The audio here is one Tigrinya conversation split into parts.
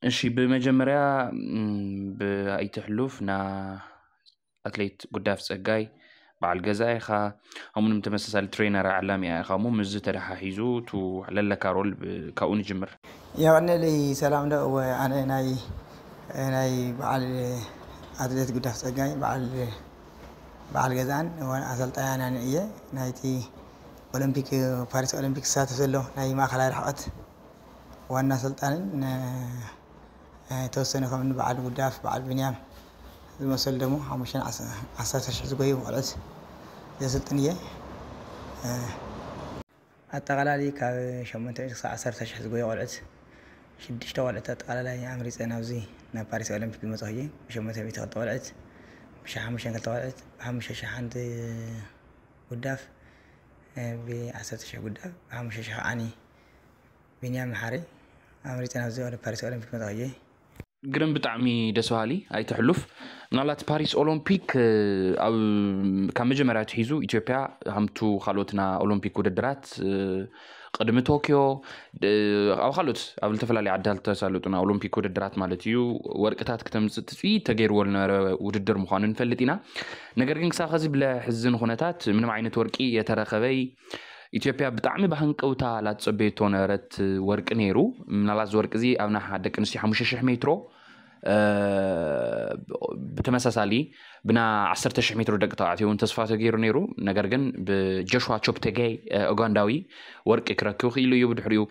እሺ፣ ብመጀመርያ፣ እም፣ ብኣይትሕሉፍ ና ኣትሌት ጉዳፍ ጸጋይ በዓል ገዛ ኢኻ፣ ከምኡውን ተመሳሳሊ ትሬነር ዓላሚ ኢኻ እሞ፣ ምስዚ ተደሓሒዙ፣ እቱ ለለካ ሮል ብ-፣ ካብኡ ንጅምር። የቐንየለይ ሰላም ዶ፣ እወ፣ ኣነ ናይ፣ ናይ በዓል ኣትሌት ጉዳፍ ጸጋይ በዓል፣ በዓል ገዛን እወ፣ ኣሰልጣኛን እየ። ናይቲ ኦሎምፒክ፣ ፓሪስ ኦሎምፒክ ዝሳተፍ ዘሎ ናይ ማእከላይ ርሕቐት ዋና ኣሰልጣንን፣ እ፣ እ፣ የተወሰነ ከም በዓል ጉዳፍ፣ በዓል ቢንያም ዝመሰሉ ደሞ ሓሙሽተን ዓሰርተ ሺሕ ዝጎዩ ቆልዑት ዘስልጥን እየ። እ፣ ኣጠቓላሊ ካብ ሸሞንተ ሚእቲ ክሳብ ዓሰርተ ሺሕ ዝጎዩ ቆልዑት፣ ሽዱሽተ ቆልዑት ኣጠቓላላይ ኣምሪፀ ናብዚ ናብ ፓሪስ ኦሎምፒክ ዝመፅኹ እየ። ብሸሞንተ ሚእቲ ክልተ ቆልዑት፣ ብሽሕ ሓሙሽተ ክልተ ቆልዑት፣ ብሓሙሽተ ሺሕ ሓንቲ ጉዳፍ፣ እ፣ ብዓሰርተ ሺሕ ጉዳፍ፣ ብሓሙሽተ ሺሕ ከዓኒ ቢንያም መሓሪ ኣምሪፀ ናብዚ ወደ ፓሪስ ኦሎምፒክ መፅኹ እየ። ግርም፣ ብጣዕሚ ደስ በሃሊ፣ ኣይትሕሉፍ። ምናልባት ፓሪስ ኦሎምፒክ፣ እ፣ ኣብ፣ ካብ መጀመርያ ኣትሒዙ ኢትዮጵያ ከምቱ ካልኦት ና ኦሎምፒክ ውድድራት፣ እ፣ ቅድሚ ቶኪዮ፣ እ፣ ኣብ ካልኦት፣ ኣብ ዝተፈላለዩ ዓድታት ዝተሳለጡ ና ኦሎምፒክ ውድድራት ማለት እዩ፣ ወርቅታት ክተምፅእ ትፅቢት ተገይርዎ ዝነበረ ውድድር ምዃኑ ንፈልጥ ኢና። ነገር ግን ክሳብ ኸዚ ብለሕዝን ኩነታት ምንም ዓይነት ወርቂ የተረኸበይ ኢትዮጵያ ብጣዕሚ ብሃንቀውታ ላትጸበየቶ ነበረት ወርቂ ነይሩ። ምናልባት እዚ ወርቂ እዚ ኣብ ናይ ደቂ ኣንስትዮ ሓሙሽተ ሺሕ ሜትሮ፣ እ፣ ብተመሳሳሊ ብና ዓሰርተ ሺሕ ሜትሮ ደቂ ተባዕትዮ እውን ተስፋ ተገይሩ ነይሩ። ነገር ግን ብጆሽዋ ቾፕቴጌይ፣ እ፣ ኡጋንዳዊ ወርቂ ክረክብ ክኢሉ እዩ። ብድሕሪኡ፣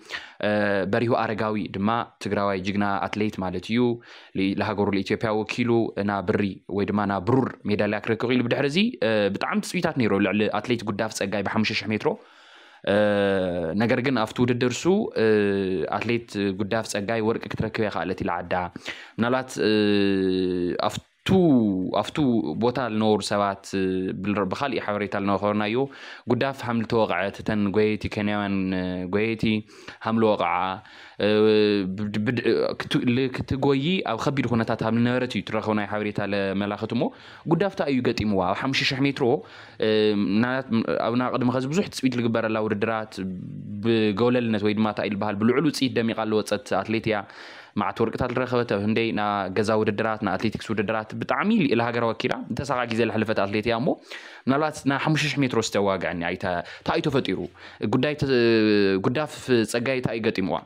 እ፣ በሪሁ ኣረጋዊ ድማ ትግራዋይ ጅግና ኣትሌት ማለት እዩ። ል-፣ ለሃገሩ ለኢትዮጵያ ወኪሉ ና ብሪ ወይ ድማ ና ብሩር ሜዳልያ ክረክብ ክኢሉ። ብድሕሪ እዚ፣ እ፣ ብጣዕሚ ትጽቢታት ነይሩ ልዕሊ ኣትሌት ጉዳፍ ጸጋይ ብሓሙሽተ ሺሕ ሜትሮ። እ፣ ነገር ግን ኣብቲ ውድድር እሱ፣ እ፣ ኣትሌት ጉዳፍ ጸጋይ ወርቂ ክትረክብ እያ ክኣለት ኢላ ዓዳ። ምናልባት፣ እ፣ ኣብቱ፣ ኣብቱ ቦታ ዝነበሩ ሰባት፣ እ፣ ብል-፣ ብኻሊእ ሓበሬታ ዝነበርናዮ ጉዳፍ ሃም ዝተወቕዐት፣ እተን ጎየይቲ፣ ኬንያውያን፣ እ፣ ጎየይቲ ሃም ዝወቕዓ፣ እ፣ ብድ-፣ ብድ-፣ ክት-፣ ል-፣ ክትጎዪ ኣብ ከቢድ ኩነታት ሃም ዝነበረት እዩ ትረኸቡ ናይ ሓበሬታ ለመላኽት እሞ፣ ጉዳፍ እንታይ እዩ ገጢምዋ? ኣብ ሓሙሽተ ሺሕ ሜትሮ፣ እ፣ ምናልባት ኣብ፣ ና ቅድሚ ኸዚ ብዙሕ ትጽቢት ዝግበረላ ውድድራት ብገውለልነት ወይ ድማ እንታይ እዩ ዝበሃል ብልዑል ውጽኢት ደሚቓ ዝወጸት ኣትሌት እያ። መዓት ወርቅታት ዝረኸበት ኣብ ህንደይ ና ገዛ ውድድራት፣ ና ኣትሌቲክስ ውድድራት ብጣዕሚ ልኢለ ሃገር ወኪላ እንተሳኻ ግዜ ዝሓለፈት ኣትሌት እያ እሞ፣ ምናልባት ና ሓሙሽተ ሺሕ ሜትሮ ዝተዋግዐኒ ኣይተ-፣ እንታይ እዩ ተፈጢሩ? ጉዳይ ተ-፣ ጉዳፍ ጸጋይ እንታይ እዩ ገጢምዋ?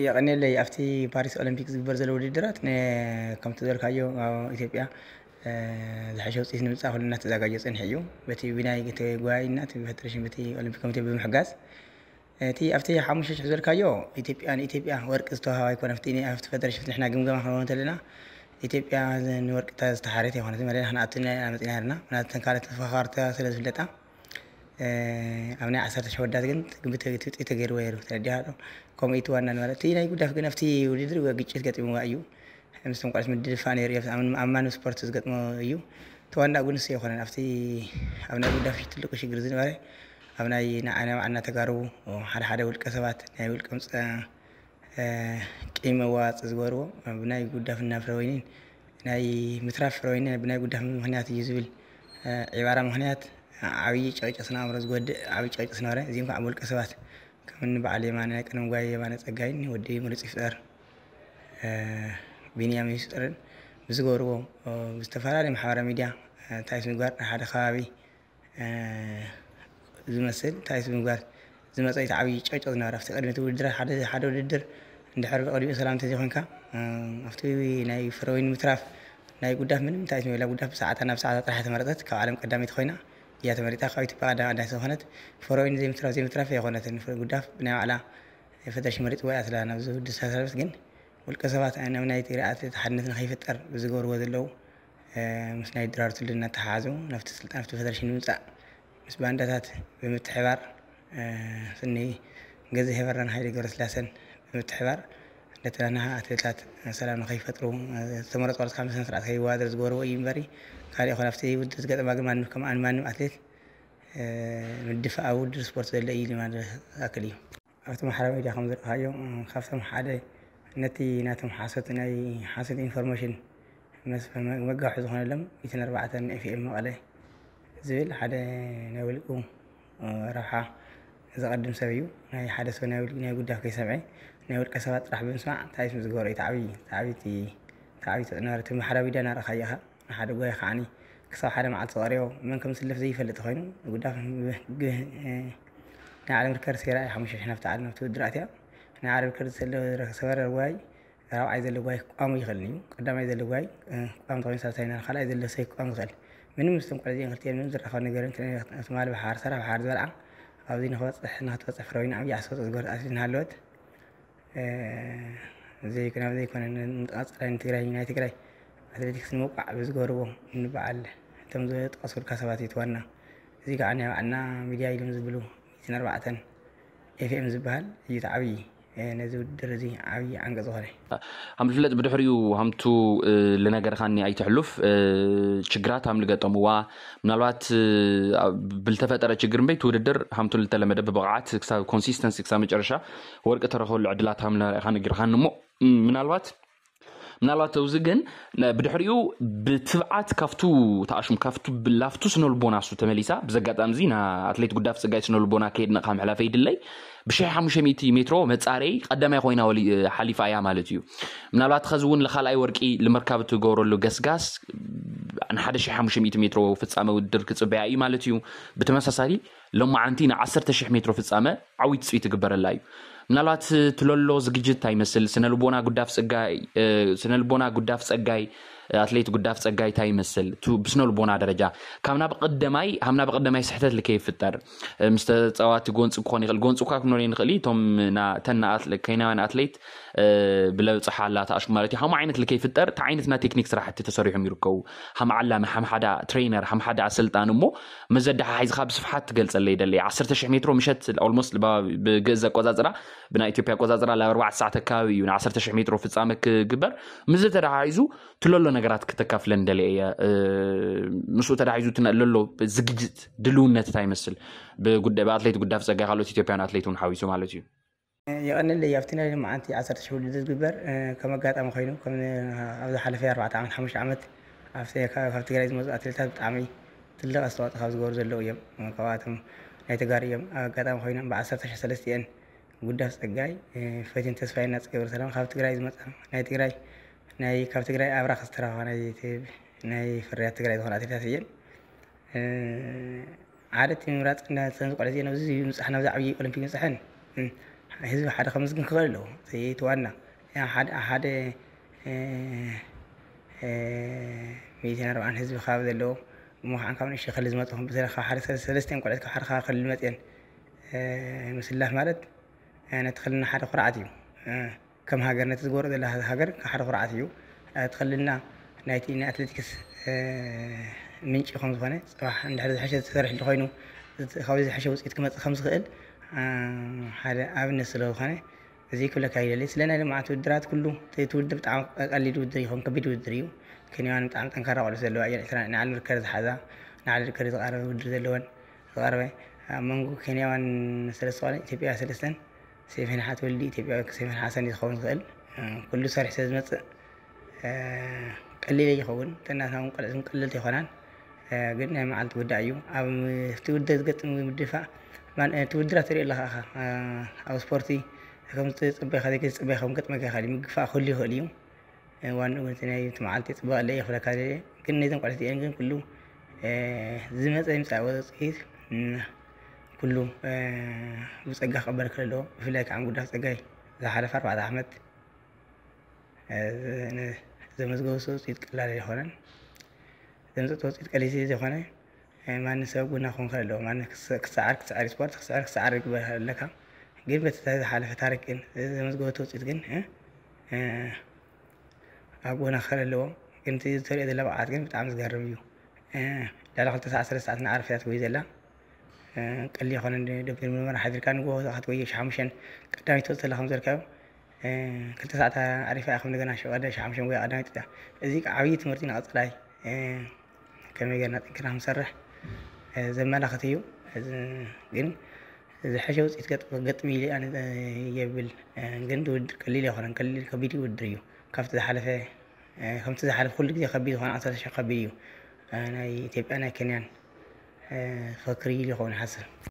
የቐንየለይ። ኣብቲ ፓሪስ ኦሎምፒክ ዝግበር ዘሎ ውድድራት ን-፣ ከምቲ ዝበልካዮ ኣብ ኢትዮጵያ፣ እ፣ ዝሐሸ ውፅኢት ንምምፃእ ኩሉ እናተዘጋጀ ፀኒሑ እዩ። በቲ ብናይ ተጓይና እቲ ፈደሬሽን በቲ ኦሎምፒክ ኮሚቴ ብምሕጋዝ እቲ ኣብቲ ሓሙሽተ ሺሕ ዝበልካዮ ኢትዮጵያ ንኢትዮጵያ ወርቂ ዝተዋህባ ኣይኮነ። ኣብቲ፣ ኣብቲ ፈደሬሽን ንሕና ግምገማ ክንኸውን እንተለና ኢትዮጵያ ንወርቂ እታ ዝተሓረየት ኣይኮነትን። ማለት ንሕና ኣብቲ ናይ መፂና ነርና። ምክንያቱ እተን ካልኦት ተፎኻኻርታ ስለ ዝፍለጣ፣ እ፣ ኣብ ናይ ዓሰርተ ሺሕ ወዳት ግን ትግምት ትውፅኢት ተገይርዎ ነይሩ። ተረዲኻ ዶ? ከምኡ እዩ እቲ ዋና ንበረ። እቲ ናይ ጉዳፍ ግን ኣብቲ ውድድር ግጭት ገጢምዋ እዩ። ምስቶም ቆልዑት ምድድፋእ ነይሩ እዩ። ኣብ፣ ኣብ ማንም ስፖርት ዝገጥሞ እዩ። እቲ ዋና ግን ንሱ ኣይኮነን። ኣብቲ፣ ኣብ ናይ ጉዳፍ ትልቁ ሽግር ዝነበረ ኣብ ናይ ንዓና ባዕልና ተጋሩ ሓደ ሓደ ውልቀ ሰባት ናይ ውልቀ ምፅ-፣ እ፣ ቂም መዋጽእ ዝገበርዎ ብናይ ጉዳፍና ፍረወይኒን ናይ ምትራፍ ፍረወይኒ ብናይ ጉዳፍ ምኽንያት እዩ ዝብል፣ እ፣ ዒባራ ምኽንያት ዓብዪ ጨቅጨቅ ስነ ኣእምሮ ዝጎድእ ዓብዪ ጨቅጨቅ ዝነበረ። እዚኦም ከዓ ብውልቀ ሰባት ከም እኒ በዓል የማነ፣ ቀደም ጓይ የማነ ጸጋይን ወዲ ምሩጽ ይፍጠር፣ እ፣ ቢንያም ይፍጠርን ብዝገበርዎ፣ እ፣ ብዝተፈላለዩ ማሕበራዊ ሚድያ፣ እ፣ እንታይ ስም ምግባር ሓደ ከባቢ፣ እ፣ ዝመስል እንታይ ስም ምግባር ዝመጸ እቲ ዓብዪ ጨቅጨቅ ዝነበረ። ኣብቲ ቅድሚ እቲ ውድድር ሓደ፣ ሓደ ውድድር እንድሕር ብቅድሚኡ ሰላም እንተዘይኮንካ፣ እ፣ ኣብቲ ናይ ፍረወይኒ ምትራፍ ናይ ጉዳፍ ምንም እንታይ ስም የብላ። ጉዳፍ ብሰዓታ ናብ ሰዓታ ጥራሕ ተመረጸት። ካብ ዓለም ቀዳመይቲ ኮይና እያ ተመሪጻ። ካብ ኢትዮጵያ ቀዳማይ ኣዳይ ዝኾነት ፍረወይኒ ዘይምትራፍ ዘይምትራፍ ኣይኮነትን። ፍረ-፣ ጉዳፍ ብናይ ባዕላ ፈደረሽን መሪጽዋ እያ ስለ ናብዚ ውድድር ዝተሳተፈት። ግን ውልቀ ሰባት ኣብ ናይ ትግራይ ኣትሌት ሓድነት ንኸይፍጠር ብዝገብርዎ ዘለዉ፣ እ፣ ምስ ናይ ድራር ትውልድ እናተሓሓዙ ናብቲ ስልጣን፣ ናብቲ ፈደረሽን ንምምጻእ ምስ ባንዳታት ብምትሕባር፣ እ፣ ስኒ ገዝሄ በራን ሃይለ ገብረስላሰን ብምትሕባር ነተናና ኣትሌታት ሰላም ንኸይፈጥሩ፣ እ፣ ዝተመረጹ ቆልዑ ካብ ስነ ስርዓት ከይወዳደር ዝገበርዎ እዩ እምበሪ፣ ካልእ ይኹን ኣብቲ ውድድር ዝገጠማ ግን ማንም ከም ኣን-፣ ማንም ኣትሌት፣ እ፣ ምድፋእ ኣብ ውድድር ስፖርት ዘሎ እዩ ኢሉ ማለት ዝኣክል እዩ። ኣብቲ ማሕበራዊ ሚድያ ከም ዝረኣኻዮ፣ እ፣ ካብቶም ሓደ ነቲ ናቶም ሓሶት፣ ናይ ሓሶት ኢንፎርሜሽን መስ-፣ መ-፣ መጋውሒ ዝኾነሎም ሚእትን ኣርባዕተን ኤፍ ኤም መቐለ ዝብል ሓደ ናይ ውልቁ፣ እ፣ ረብሓ ዘቐድም ሰብ እዩ። ናይ ሓደ ሰብ ናይ ውልቁ ናይ ጉዳፍ ከይሰምዐ ናይ ውልቀ ሰባት ጥራሕ ብምስማዕ እንታይ እዩ ዝገብሮ? እቲ ዓብዪ እቲ ዓብዪ እቲ እቲ ዓብዪ ተፅዕኖ እቲ ማሕበራዊ ሚድያ እናረእኻ ኢኻ። ንሓደ ጓይ ከዓኒ ክሳብ ሓደ መዓልቲ ቀሪቦ መን ከም ዝስለፍ ዘይፈልጥ ኮይኑ ጉዳፍ ናይ ዓለም ርከር ሴራ እዩ ሓሙሽተ ሽሕ ናብቲ ዓለም ናብቲ ውድድር ኣትያ። ናይ ዓለም ርከር ዝሰበረ ጓይ ራብዓይ ዘሎ ጓይ ክቋሙ ይኽእል እዩ። ቀዳማይ ዘሎ ጓይ ክቋም ተኮይኑ ሳልሳይ ካልኣይ ዘሎ ሰብ ክቋም ይኽእል። ምንም ምስቶም ቆልዓ እዚኦም ክልቲኦም ምንም ዝራኸብ ነገር የለን። ትማሊ ብሓር ሰራሕ ብሓር ዝበልዓ ኣብዚ ንክበፅሕ ንክትበፅሕ ፍረዊና ዓብዪ ኣስተዋፅኦ ዝገበረት ኣትሌት እናሃለወት ዘይኮነ ዘይኮነ ንቐፃላይ ንትግራይ ናይ ትግራይ ኣትሌቲክስ ንምውቃዕ ብዝገበርዎ እንበዓል እቶም ዝጠቐስኩልካ ሰባት እዩ እቲ ዋና። እዚ ከዓ ናይ ባዕልና ሚድያ ኢሎም ዝብሉ ሚእትን ኣርባዕተን ኤፍኤም ዝበሃል እዩ እቲ ዓብዪ ነዚ ውድድር እዚ ዓብዪ ዓንቀ ዝኾነ። ከም ዝፍለጥ ብድሕሪኡ ሃምቱ ልነገርካኒ ኣይትሕሉፍ። ችግራት ሃም ልገጠምዋ ምናልባት ብልተፈጠረ ችግር እምበይ እቲ ውድድር ሃምቱ ልተለመደ ብብቕዓት ክሳብ ኮንሲስተንሲ ክሳብ መጨረሻ ወርቂ ተረኸሉ ዕድላት ሃም ልካ ነጊርካኒ እሞ ምናልባት ምናልባት ኣብዚ ግን ብድሕሪኡ ብትብዓት ካብቱ ተኣሽም ካብቱ ላፍቱ ስነልቦና እሱ ተመሊሳ። ብዘጋጣሚ እዚ ንኣትሌት ጉዳፍ ፀጋይ ስነልቦና ከየድነቕካ ምሕላፈይ ይድለይ። ብ ሽሕ ሓሙሽተ ሚእቲ ሜትሮ መፃረይ ቀዳማይ ኮይና ሓሊፋ እያ ማለት እዩ። ምናልባት ኸዚ እውን ንካልኣይ ወርቂ ንምርካብ እትገብረሉ ገስጋስ ንሓደ ሽሕ ሓሙሽተ ሚእቲ ሜትሮ ፍፃመ ውድድር ክፅበያ እዩ ማለት እዩ። ብተመሳሳሊ ሎማዓንቲ ን ዓሰርተ ሽሕ ሜትሮ ፍፃመ ዓብዪ ትፅቢት ይግበረላ እዩ። ምናልባት ትለሎ ዝግጅት እንታይ ይመስል? ስነልቦና ጉዳፍ ፀጋይ ስነልቦና ጉዳፍ ፀጋይ ኣትሌት ጉዳፍ ፀጋይ እንታይ ይመስል? ብስነልቦና ደረጃ ካብ ናብ ቀደማይ ሃም ናብ ቀደማይ ስሕተት ልከይፍጠር ምስ ተፃዋቲ ጎንፂ ክኾን ይኽእል። ጎንፂ እኳ ክንብል ንኽእል እቶም ተን ኬንያውያን ኣትሌት ብለብፅሓ ኣላ ተኣሽኩ ማለት እዩ። ሃም ዓይነት ልከይፍጠር እቲ ዓይነት ናይ ቴክኒክ ስራሕቲ ተሰሪሖም ይርከቡ። ሃም ዓላሚ ሃም ሓደ ትሬነር ሃም ሓደ ኣሰልጣን እሞ መዘዳሓሒዝካ ብስፍሓት ትገልፀለይ ደለ ዓሰርተ ሽሕ ሜትሮ ምሸት ኦልሞስት ብግእዝ ኣቆፃፅራ ብናይ ኢትዮጵያ ኣቆፃፅራ ላብ ኣርባዕተ ሰዓት ኣካባቢ እዩ ን ዓሰርተ ሽሕ ሜትሮ ፍፃመ ክግበር። ምስ ተዳሓሒዙ ትለሎ ነገራት ክተካፍለን ደለ እየ። ምስኡ ተዳሒዙ ለሎ ዝግጅት ድልውነት እንታይ ይመስል? ብኣትሌት ጉዳፍ ፀጋይ ካልኦት ኢትዮጵያን ኣትሌት እውን ሓዊሱ ማለት እዩ። የቐንለይ ኣብቲ ናይ ሎማዓንቲ ዓሰርተ ሽሕ ውድድር ዝግበር ከም ኣጋጣሚ ኮይኑ ኣብ ዝሓለፈ ኣርባዕተ ዓመት ሓሙሽተ ዓመት ካብ ትግራይ ዝመፁ ኣትሌታት ብጣዕሚ ትልቅ ኣስተዋፅኦ ካብ ዝገበሩ ዘለዉ እዮም። ካብኣቶም ናይ ተጋሩ እዮም። ኣብ ኣጋጣሚ ኮይኖም ብዓሰርተ ሽሕ ሰለስቲኤን ጉዳፍ ፀጋይ ፈቲን ተስፋይ እና ገብረሰላም ካብ ትግራይ ዝመፃ ናይ ትግራይ ናይ ካብ ትግራይ ኣብራኽ ዝተረኸባ ናይ ፍርያት ትግራይ ዝኾነ ኣትሌታት እየን። ሓደ እቲ ምምራፅ እተን ዝቆልዐ እዚአን ኣብዚ ምብፃሕ ናብዚ ዓብዪ ኦሎምፒክ ምብፅሐን ህዝቢ ሓደ ከመስግን ክኽእል ኣለዎ። እቲ ዋና ሓደ ሓደ ሚእትን ኣርባዓን ህዝቢ ከባቢ ዘለዎ እሞ ከዓ ካብ ንእሽተይ ክልል ዝመፅኹም ብተለይ ካብ ሓደ ሰለስተን ቆልዑት ካብ ሓደ ከባቢ ክልል መፅአን ምስላፍ ማለት ነቲ ክልልና ሓደ ኩርዓት እዩ። ከም ሃገር ነቲ ዝገብሮ ዘላ ሃገር ሓደ ኩርዓት እዩ። እቲ ክልልና ናይቲ ናይ ኣትሌቲክስ ምንጪ ከም ዝኾነ ፅባሕ እንድሕር ዝሐሸ ዝሰርሕ እንተኮይኑ ካብዚ ዝሐሸ ውፅኢት ክመፅእ ከም ዝኽእል ሓደ ኣብነት ስለ ዝኾነ እዚ ክብለካ ይደሊ። ስለ ናይ ልምዓት ውድድራት ኩሉ እቲ ውድድር ብጣዕሚ ቀሊል ውድድር ይኸውን ከቢድ ውድድር እዩ። ኬንያውያን ብጣዕሚ ጠንካራ ቆልዑ ዘለዋ እየን። ዕስራ ንዓለም ርከር ዝሓዛ ንዓለም ርከር ዝቃረበ ውድድር ዘለወን ዝቐረበ ኣብ መንጎ ኬንያውያን ሰለስተ ቆልዑ ኢትዮጵያ ሰለስተን ሴፈን ሓት ወልዲ ኢትዮጵያ ሴፈን ሓሰን እዩ ዝኸውን ዝኽእል ኩሉ ሰሪሕ ስለ ዝመፅእ ቀሊል ይኸውን። ተናትና እውን ቆልዑ ቀለልቲ ይኾናን ግን ናይ መዓልቲ ጉዳይ እዩ። ኣብቲ ውድድር ዝገጥም ምድፋእ እቲ ውድድራት ትሪኦ ኣለኻ ኢኻ ኣብ ስፖርቲ ከም ዝፅበኻ ዘይከ ዝፅበኻ ከም ገጥመካ ይኽእል እዩ ምግፋእ ክህሉ ይኽእል እዩ። ዋንኡ ግን እቲ ናይ እቲ መዓልቲ ፅበቐለይ ይኽብለካ ግን ነዞም ቆልዑት እዚኦም ግን ኩሉ ዝመፀ ይምፃእ ውፅኢት ኩሉ ብፀጋ ክቕበል ክእል ኣለዎ። ብፍላይ ከዓ ጉዳፍ ፀጋይ ዝሓለፈ ኣርባዕተ ዓመት ዘመዝገቡ ውፅኢት ቀላል ኣይኮነን። ዘምፅእቶ ውፅኢት ቀሊል ዘይኮነ ማንም ሰብ ጎና ክኾን ክእል ኣለዎ። ማንም ክሰዓር ክሰዓር ስፖርት ክሰዓር ክሰዓር ይግበር ኣለካ። ግን በቲ ዝሓለፈ ታሪክ ግን ዘመዝገበቶ ውፅኢት ግን ኣብ ጎና ክእል ኣለዎ። ግን እቲ ዝተሪኦ ዘላ ብዓት ግን ብጣዕሚ ዝገርም እዩ። ልዕሊ ክልተ ሰዓት ሰለስተ ሰዓት ንዓረፍ እያ ትጎይ ዘላ። ቀሊል ይኮነ ደብር ምርመራ ሓዲርካ ንጎ ክትጎየ ሸሓሙሸን ቀዳሚት ትወፅእ ዘላ ከም ዘልካዮ ክልተ ሰዓት ኣሪፋ እያ ከም እንደገና ሸቀደ ሸሓሙሸን ጎያ ቀዳሚት እያ። እዚ ከዓ ዓብዪ ትምህርቲ ንቐፅላይ ከመይ ጌርና ጠንኪርና ክንሰርሕ ዘመላኽት እዩ። ግን ዝሐሸ ውፅኢት ገጥም ኢሉ ኣነ የብል። ግን ውድድር ቀሊል ኣይኮነን። ቀሊል ከቢድ ውድድር እዩ። ካብቲ ዝሓለፈ ከምቲ ዝሓለፈ ኩሉ ግዜ ከቢድ ዝኾነ ዓሰርተ ሽሕ ከቢድ እዩ። ናይ ኢትዮጵያ ናይ ኬንያን ፈክሪ ኢሉ ይኸውን ይሓስብ።